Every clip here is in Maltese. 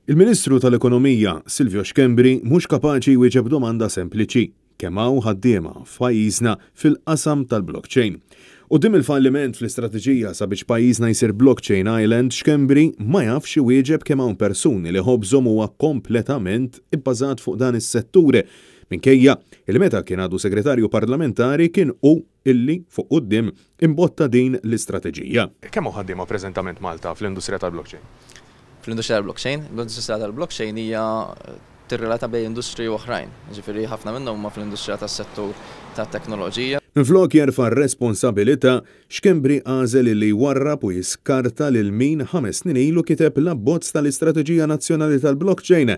Il-Ministru tal-Ekonomija, Silvio Schembri, mhux kapaċi jwieġeb domanda sempliċi, kemm hawn ħaddiema f'pajjiżna fil-qasam tal-blockchain? Quddiem il-falliment fl-istrateġija sabiex pajjiżna jsir blockchain island, Schembri ma jafx iwieġeb kemm hawn persuni li ħobżhom huwa kompletament ibbażat fuq dan is-settur, minkejja li meta kien għadu Segretarju Parlamentari kien hu illi, fuq quddiem, imbotta din l-istrateġija. Kemm hawn ħaddiema preżentament Malta fl-industrija tal-blockchain? Fl-industrija tal-blockchain? L-industrija tal-blockchain hija tirrelata bejn industriji oħrajn. Jiġifieri ħafna minnhom huma fl-industrija tas-settur tat-teknoloġija. Minflok jerfa' r-responsabilità, Schembri għażel illi jwarrab u jiskarta lil min ħames snin ilu kiteb l-abbozz tal-Istrateġija Nazzjonali tal-Blockchain.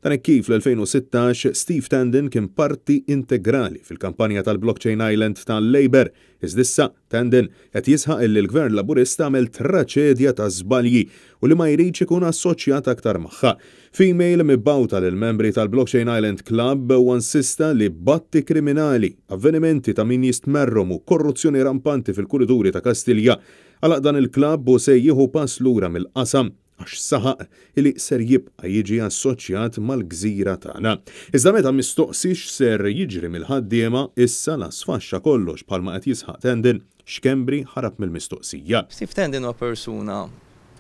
Dan hekk kif fl-2016 Steve Tandon kien parti integrali fil-kampanja tal-Blockchain Island tal-Labour. Iżda issa Tandon qed jisħaq illi l-Gvern Laburista għamel traċedja ta' żbalji u li ma jridx ikun assoċjat aktar magħha. F'email mibgħuta lill-membri tal-Blockchain Island Club huwa insista li b'atti kriminali, avvenimenti ta' min jistmerrhom u korruzzjoni rampanti fil-kurituri ta' Kastilja għalaq dan il-klabb u se jieħu pass lura mill-qasam għax saħaq li ser jibqa' jiġi assoċjat mal-gżira tagħna. Iżda meta mistoqsi x'ser jiġri mill-ħaddiema issa la sfaxxa kollox bħalma qed jisħaq Tandon, Schembri ħarab mill-mistoqsija. Steve Tandon huwa persuna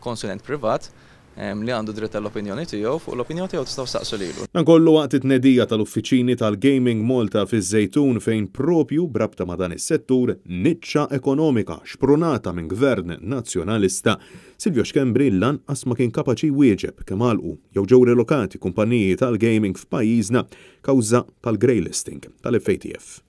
konsulent privat li għandu dritt tal-opinjoni tiegħu, fuq l-opinjoni tiegħu tistgħu staqsu lilu. Dan kollu waqt it-tnedija tal-uffiċini tal-Gaming Malta fiż-Żejtun fejn propju b'rabta ma' dan is-settur niċċa ekonomika xprunata minn gvern nazzjonalista Silvio Schembri lanqas ma kien kapaċi jwieġeb kemm għalqu jew ġew relokati kumpaniji tal-gaming f'pajjiżna kawża tal-grey listing tal-FATF.